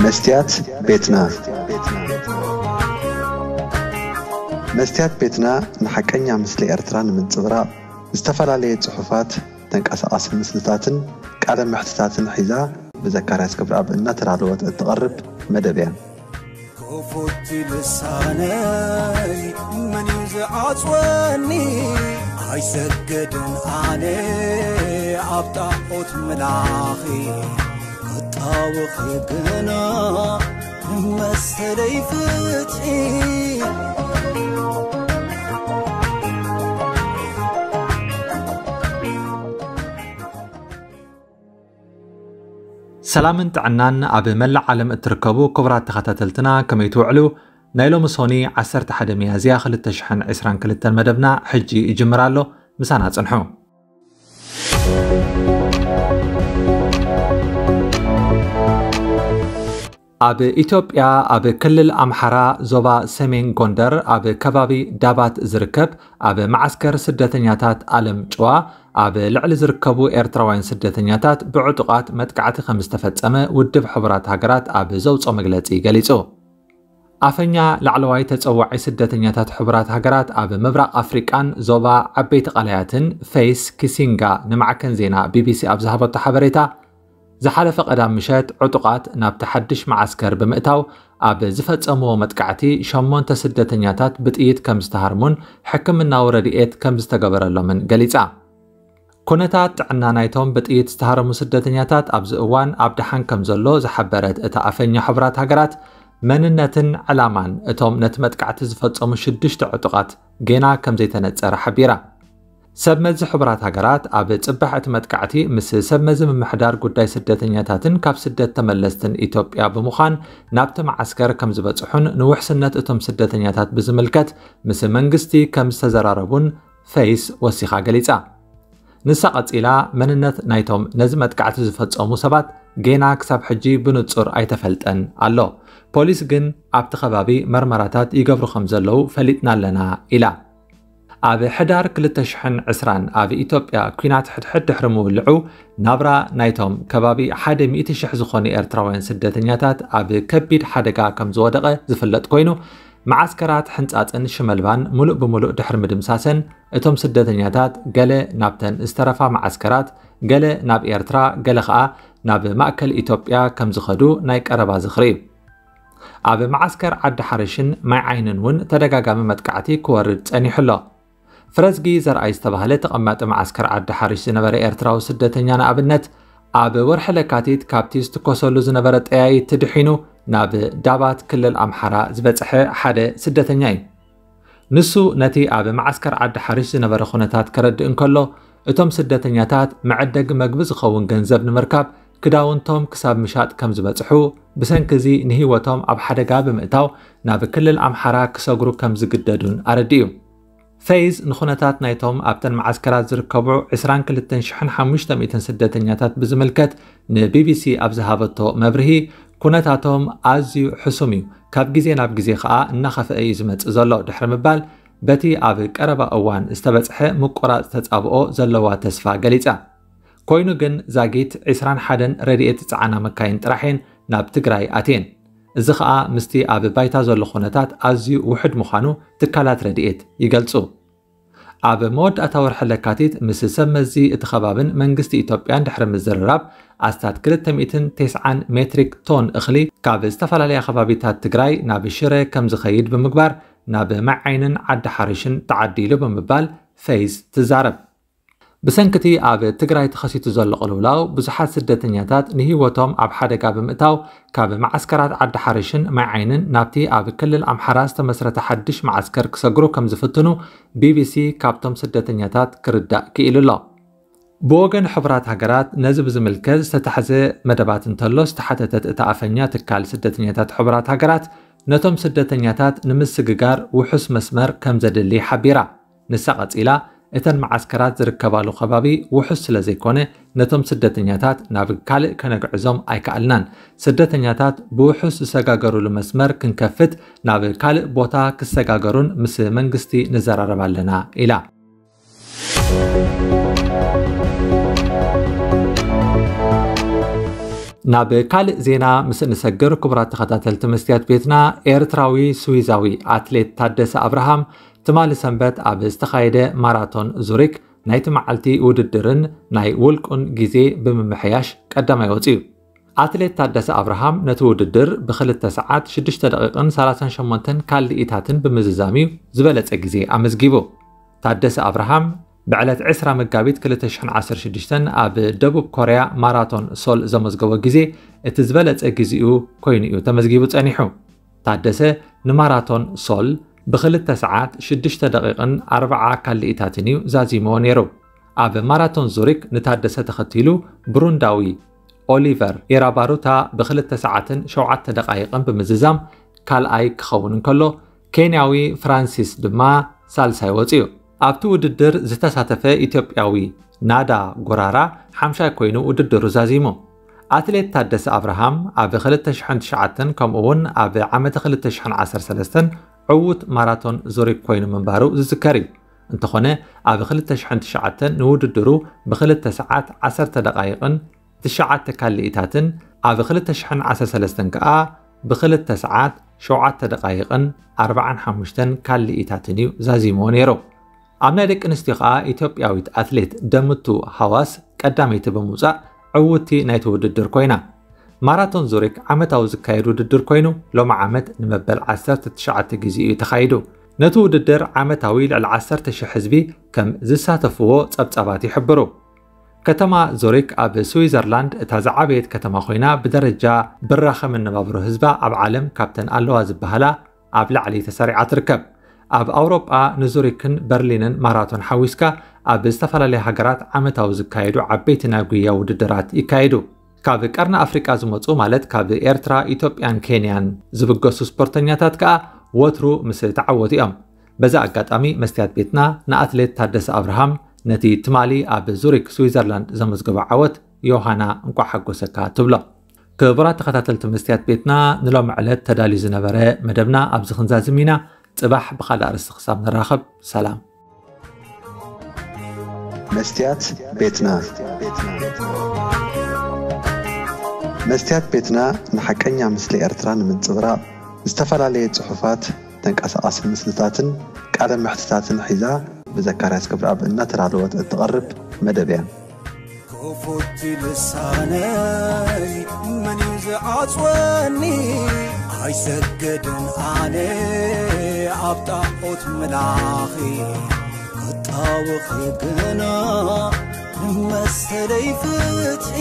መስትያት ቤትና። መስትያት ቤትና ንሓቀኛ ምስሊ ኤርትራ ንምንጽብራቕ ዝተፈላለየ ጽሑፋት፣ ተንቀሳቓሲ ምስልታትን ቃለ መሕትታትን ሒዛ ብዘካርያስ ገብረኣብ እናተዳለወት እትቐርብ መደብ እያ። ክፉት ልሳነይ መን እዩ ዝዓጽወኒ? ኣይሰግድን ኣነ ኣብ ጣዖት ምላኺ፣ ክጣወኺ ግና መሰለይ ፍትሒ። ሰላምን ጥዕናን ኣብ መላእ ዓለም እትርከቡ ክቡራት ተኸታተልትና፣ ከመይ ትውዕሉ? ናይ ሎሚ ሶኒ ዓሰርተ ሓደ ሚያዝያ ክልተ ሽሕን ዕስራን ክልተን መደብና ሕጂ ይጅምር ኣሎ። ምሳና ጽንሑ። ኣብ ኢትዮጵያ፣ ኣብ ክልል ኣምሓራ፣ ዞባ ሰሜን ጎንደር፣ ኣብ ከባቢ ዳባት ዝርከብ ኣብ መዓስከር ስደተኛታት ኣለም ጭዋ፣ ኣብ ልዕሊ ዝርከቡ ኤርትራውያን ስደተኛታት ብዕጡቓት መጥቃዕቲ ከም ዝተፈጸመ ውድብ ሕቡራት ሃገራት ኣብ ዘውጽኦ መግለጺ ገሊጹ። ኣፈኛ ላዕለዋይ ተጸዋዒ ስደተኛታት ሕቡራት ሃገራት ኣብ ምብራቕ ኣፍሪቃን ዞባ ዓበይቲ ቀላያትን ፌይስ ኪሲንጋ ንማዕከን ዜና ቢቢሲ ኣብ ዝሃበቶ ሓበሬታ፣ ዝሓለፈ ቀዳም ምሸት ዕጡቓት ናብቲ ሓድሽ መዓስከር ብምእታው ኣብ ዝፈጸምዎ መጥቃዕቲ ሸሞንተ ስደተኛታት ብጥይት ከም ዝተሃርሙን ሕክምናዊ ረድኤት ከም ዝተገበረሎምን ገሊጻ። ኩነታት ጥዕና ናይቶም ብጥይት ዝተሃረሙ ስደተኛታት ኣብዚ እዋን ኣብ ደሓን ከም ዘሎ ዝሓበረት እታ ኣፈኛ ሕቡራት ሃገራት፣ መንነትን ዕላማን እቶም ነቲ መጥቃዕቲ ዝፈጸሙ ሽዱሽተ ዕጡቓት ጌና ከም ዘይተነጸረ ሓቢራ። ሰብ መዚ ሕቡራት ሃገራት ኣብ ጽባሕ እቲ መጥቃዕቲ ምስ ሰብ መዚ ምምሕዳር ጉዳይ ስደተኛታትን ካብ ስደት ተመለስትን ኢትዮጵያ ብምዃን ናብቲ መዓስከር ከም ዝበጽሑን ንውሕስነት እቶም ስደተኛታት ብዝምልከት ምስ መንግስቲ ከም ዝተዘራረቡን ፌይስ ወሲኻ ገሊጻ። ንሳ ቀጺላ፣ መንነት ናይቶም ነዚ መጥቃዕቲ ዝፈጸሙ ሰባት ጌና ክሳብ ሕጂ ብንጹር ኣይተፈልጠን ኣሎ። ፖሊስ ግን ኣብቲ ከባቢ መርመራታት ይገብሩ ከም ዘለዉ ፈሊጥና ኣለና ኢላ። ኣብ ሕዳር ክልተ ሽሕን ዕስራን ኣብ ኢትዮጵያ ኲናት ሕድሕድ ድሕሪ ምውልዑ፣ ናብራ ናይቶም ከባቢ ሓደ ሚእቲ ሽሕ ዝኾኑ ኤርትራውያን ስደተኛታት ኣብ ከቢድ ሓደጋ ከም ዝወደቐ ዝፍለጥ ኮይኑ፣ መዓስከራት ሕንጻጽን ሽመልባን ምሉእ ብምሉእ ድሕሪ ምድምሳሰን፣ እቶም ስደተኛታት ገለ ናብተን ዝተረፋ መዓስከራት፣ ገለ ናብ ኤርትራ፣ ገለ ኸኣ ናብ ማእከል ኢትዮጵያ ከም ዝኸዱ ናይ ቀረባ ዝኽሪ እዩ። ኣብ መዓስከር ዓዲ ሓርሽን ማይ ዓይንን እውን ተደጋጋሚ መጥቃዕቲ ክወርድ ጸኒሑ ኣሎ። ፍረዝጊ ዘርኣይ ዝተባህለ ተቐማጢ መዓስከር ዓዲ ሓርሽ ዝነበረ ኤርትራዊ ስደተኛ ንኣብነት፣ ኣብ ወርሒ ለካቲት ካብቲ ዝትኮሰሉ ዝነበረ ጠያይቲ ድሒኑ ናብ ዳባት ክልል ኣምሓራ ዝበጽሐ ሓደ ስደተኛ እዩ። ንሱ ነቲ ኣብ መዓስከር ዓዲ ሓርሽ ዝነበረ ኩነታት ከረድእ እንከሎ፣ እቶም ስደተኛታት መዐደጊ መግቢ ዝኸውን ገንዘብ ንምርካብ ክዳውንቶም ክሳብ ምሻጥ ከም ዝበጽሑ፣ ብሰንኪ እዚ ንህይወቶም ኣብ ሓደጋ ብምእታው ናብ ክልል ኣምሓራ ክሰግሩ ከም ዝግደዱን ኣረዲኡ። ፌይዝ ንኹነታት ናይቶም ኣብተን መዓስከራት ዝርከቡ ዕስራን ክልተን ሽሕን ሓሙሽተ ሚእትን ስደተኛታት ብዝምልከት ንቢቢሲ ኣብ ዝሃበቶ መብርሂ፣ ኩነታቶም ኣዝዩ ሕሱም እዩ፣ ካብ ግዜ ናብ ግዜ ኸኣ እናኸፍአ እዩ ዝመጽእ ዘሎ ድሕሪ ምባል፣ በቲ ኣብ ቀረባ እዋን ዝተበጽሐ ምቁራጽ ተጻብኦ ዘለዋ ተስፋ ገሊጻ። ኮይኑ ግን ዛጊት ዕስራን ሓደን ረድኤት ዝጸዓና መካይን ጥራሕ እየን ናብ ትግራይ ኣትየን። እዚ ኸኣ ምስቲ ኣብ ባይታ ዘሎ ኩነታት ኣዝዩ ውሑድ ምዃኑ ትካላት ረድኤት ይገልጹ። ኣብ መወዳእታ ወርሒ ለካቲት ምስ ሰብ መዚ እቲ ከባብን መንግስቲ ኢትዮጵያን ድሕሪ ምዝርራብ፣ ኣስታት ክልተ ሚእትን ተስዓን ሜትሪክ ቶን እኽሊ ካብ ዝተፈላለያ ከባቢታት ትግራይ ናብ ሽረ ከም ዝኸይድ ብምግባር፣ ናብ ማይ ዓይንን ዓዲ ሓርሽን ተዓዲሉ ብምባል ፌይዝ ትዛረብ። ብሰንኪ እቲ ኣብ ትግራይ ተኸሲቱ ዘሎ ቅልውላው፣ ብዙሓት ስደተኛታት ንህይወቶም ኣብ ሓደጋ ብምእታው፣ ካብ መዓስከራት ዓዲ ሓርሽን ማይ ዓይንን ናብቲ ኣብ ክልል ኣምሓራ ዝተመስረተ ሓድሽ መዓስከር ክሰግሩ ከም ዝፍትኑ ቢቢሲ ካብቶም ስደተኛታት ክርዳእ ክኢሉ ኣሎ። ብወገን ሕቡራት ሃገራት ነዚ ብዝምልከት ዝተታሕዘ መደባት እንተሎ ዝተሓተተት እታ ኣፈኛ ትካል ስደተኛታት ሕቡራት ሃገራት፣ ነቶም ስደተኛታት ንምስግጋር ውሑስ መስመር ከም ዘድሊ ሓቢራ። ንሳ ቀጺላ፣ እተን መዓስከራት ዝርከባሉ ከባቢ ውሑስ ስለ ዘይኮነ፣ ነቶም ስደተኛታት ናብ ካልእ ከነግዕዞም ኣይከኣልናን። ስደተኛታት ብውሑስ ዝሰጋገሩሉ መስመር ክንከፍት፣ ናብ ካልእ ቦታ ክሰጋገሩን ምስ መንግስቲ ንዘራረብ ኣለና ኢላ። ናብ ካልእ ዜና ምስ እንሰግር፣ ክቡራት ተኸታተልቲ መስትያት ቤትና፣ ኤርትራዊ ስዊዛዊ ኣትሌት ታደሰ ኣብርሃም ትማሊ ሰንበት ኣብ ዝተኻየደ ማራቶን ዙሪክ ናይቲ መዓልቲ ውድድርን ናይ ውልቁን ግዜ ብምምሕያሽ ቀዳማይ ወጺኡ። ኣትሌት ታደሰ ኣብርሃም ነቲ ውድድር ብክልተ ሰዓት ሽዱሽተ ደቂቕን ሰላሳን ሸሞንተን ካልኢታትን ብምዝዛም እዩ ዝበለጸ ግዜ ኣመዝጊቡ። ታደሰ ኣብርሃም ብዕለት ዕስራ መጋቢት ክልተ ሽሕን ዓሰርተ ሽዱሽተን ኣብ ደቡብ ኮርያ ማራቶን ሶል ዘመዝገቦ ግዜ እቲ ዝበለጸ ግዜኡ ኮይኑ እዩ ተመዝጊቡ ጸኒሑ። ታደሰ ንማራቶን ሶል ብክልተ ሰዓት ሽዱሽተ ደቂቕን ኣርብዓ ካልኢታትን እዩ ዛዚምዎ ነይሩ። ኣብ ማራቶን ዙሪክ ንታደሰ ተኸቲሉ ብሩንዳዊ ኦሊቨር ኢራባሩታ ብክልተ ሰዓትን ሸውዓተ ደቃይቕን ብምዝዛም ካልኣይ ክኸውን እንከሎ፣ ኬንያዊ ፍራንሲስ ድማ ሳልሳይ ወጺኡ። ኣብቲ ውድድር ዝተሳተፈ ኢትዮጵያዊ ናዳ ጎራራ ሓምሻይ ኮይኑ ውድድሩ ዛዚሙ። ኣትሌት ታደሰ ኣብርሃም ኣብ ክልተ ሽሕን ትሽዓተን ከምኡ እውን ኣብ ዓመተ ክልተ ሽሕን ዓሰርተ ሰለስተን ዕዉት ማራቶን ዙሪክ ኮይኑ ምንባሩ ዝዝከር እዩ። እንተኾነ፣ ኣብ ክልተ ሽሕን ትሽዓተን ንውድድሩ ብክልተ ሰዓት ዓሰርተ ደቃይቕን ትሽዓተ ካልኢታትን፣ ኣብ ክልተ ሽሕን ዓሰርተ ሰለስተን ከኣ ብክልተ ሰዓት ሸውዓተ ደቃይቕን ኣርባዓን ሓሙሽተን ካልኢታትን እዩ ዛዚምዎ ነይሩ። ኣብ ናይ ደቂ ኣንስትዮ ከኣ ኢትዮጵያዊት ኣትሌት ደምቱ ሃዋስ ቀዳመይቲ ብምውጻእ ዕውቲ ናይቲ ውድድር ኮይና። ማራቶን ዙሪክ ዓመታዊ ዝካየድ ውድድር ኮይኑ፣ ሎሚ ዓመት ንመበል ዓሰርተ ትሽዓተ ግዜ እዩ ተኻይዱ። ነቲ ውድድር ዓመታዊ ልዕሊ ዓሰርተ ሽሕ ህዝቢ ከም ዝሳተፍዎ ጸብጻባት ይሕብሩ። ከተማ ዙሪክ ኣብ ስዊዘርላንድ እታ ዝዓበየት ከተማ ኮይና፣ ብደረጃ ብራኸ መነባብሮ ህዝባ ኣብ ዓለም ካብተን ኣለዋ ዝበሃላ ኣብ ላዕሊ ተሰሪዓ ትርከብ። ኣብ ኣውሮጳ ንዙሪክን በርሊንን ማራቶን ሓዊስካ ኣብ ዝተፈላለያ ሃገራት ዓመታዊ ዝካየዱ ዓበይቲ ናይ ጉያ ውድድራት ይካየዱ። ካብ ቀርኒ ኣፍሪቃ ዝመጹ፣ ማለት ካብ ኤርትራ፣ ኢትዮጵያን ኬንያን ዝብገሱ ስፖርተኛታት ከኣ ወትሩ ምስ ተዓወቱ እዮም። በዚ ኣጋጣሚ መስትያት ቤትና ንኣትሌት ታደሰ ኣብርሃም ነቲ ትማሊ ኣብ ዙሪክ ስዊዘርላንድ ዘመዝገቦ ዓወት ዮሃና እንቋዕ ሓጎሰካ ትብሎ። ክቡራት ተኸታተልቲ መስትያት ቤትና፣ ንሎሚ ዕለት ተዳልዩ ዝነበረ መደብና ኣብዚ ክንዛዝም ኢና። ጽባሕ ብኻልእ ኣርእስቲ ክሳብ ንራኸብ፣ ሰላም። መስትያት ቤትና። መስትያት ቤትና ንሓቀኛ ምስሊ ኤርትራ ንምንጽብራቕ ዝተፈላለየ ጽሑፋት፣ ተንቀሳቓሲ ምስልታትን ቃለ መሕትታትን ሒዛ ብዘካርያስ ገብረኣብ እናተዳለወት እትቐርብ መደብ እያ። ክፉት ልሳነይ መን እዩ ዝዓጽወኒ? ኣይሰግድን ኣነ ኣብ ጣዖት ምላኺ፣ ክጣወኺ ግና ንመሰለይ ፍትሒ።